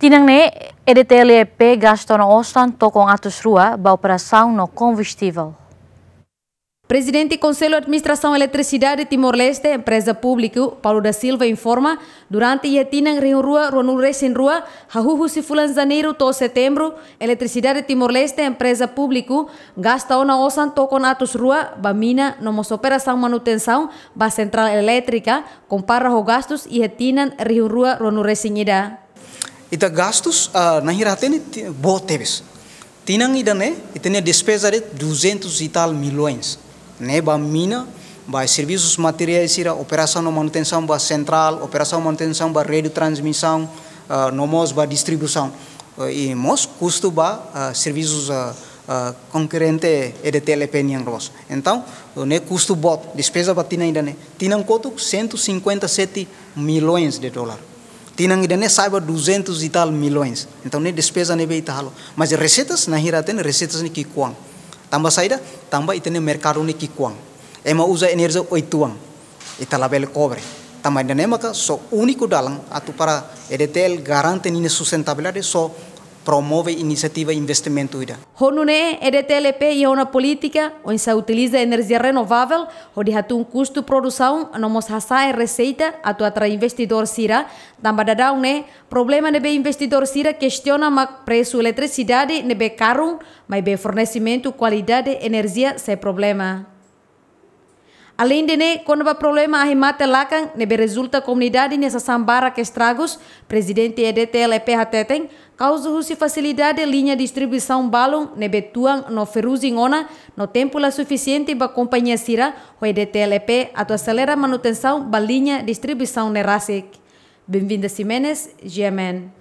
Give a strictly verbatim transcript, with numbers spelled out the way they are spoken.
Tinan ne'e, E D T L E P gasta ona osan tokon atus rua ba operasaun no kombustivel. Prezidente Konsellu Administrasaun Eletrisidade Timor-Leste, Empreza Públiku, Paulo da Silva informa, durante iha tinan rihun rua ruanulu-resin-rua, hahú husi fulan Janeiru to'o Setembru, Eletrisidade Timor-Leste, Empreza Públiku, gasta ona osan tokon atus rua ba mina no mós operasaun manutensaun ba sentrál elétrika, kompara ho gastus iha tinan rihun rua ruanulu-resin-ida. Ita gastus, ah, na'in-hira hatene ti-, boot tebes. Tinan ida-ne'e, ita-nia despeza de'it duzentos e tal milhões. Ne'e ba mina, ba servisus materiais sira, operasaun no manutensaun ba sentrál, operasaun manutensaun ba rede transmisaun, ah, no mós ba distribuisaun. Ah, i mós kustu ba, ah, servisus, ah, ah, konkorrente E D T L E P nian loos. Entaun, ne'e kustu boot, despeza ba tinan ida-ne'e. Tinan kotuk, cento e cinquenta e sete milhões de dólar. Tinan ida-ne'e sa'e ba duzentos e tal milhões. Entaun, ne'e despeza ne'ebé ita halo. Mas reseitas, na'in-hira hatene, reseitas ne'e ki'ikoan. Tanba saida, tanba ita-nia merkadu ne'e ki'ikoan. Ema uza enerjia oituan. Ita labele kobre. Tanba ida-ne'e maka só úniku dalan atu para E D T L garante ninia sustentabilidade, só promove inisiativa investimentu ida. Ho nune'e, E D T L E P iha ona polítika oinsá utiliza enerjia renovável hodi hatún kustu produsaun no mós hasa'e reseita atu atrai investidór sira, tanba daudaun ne'e problema ne'ebé investidór sira kestiona mak presu eletrisidade ne'ebé karun, maibé fornesimentu kualidade enerjia sei problema. Aleinde ne'e, kona-ba problema ahi mate lakan ne'ebé rezulta komunidade nia sasán barak estragus, Prezidente E D T L E P hateten, kauza husi fasilidade liña distribuisaun balun ne'ebé tuan no ferrugem ona, no tempu la sufisiente ba kompañia sira ho E D T L E P atu aselera manutensaun ba liña distribuisaun ne'e rasik. Benvinda Ximenes, G M N.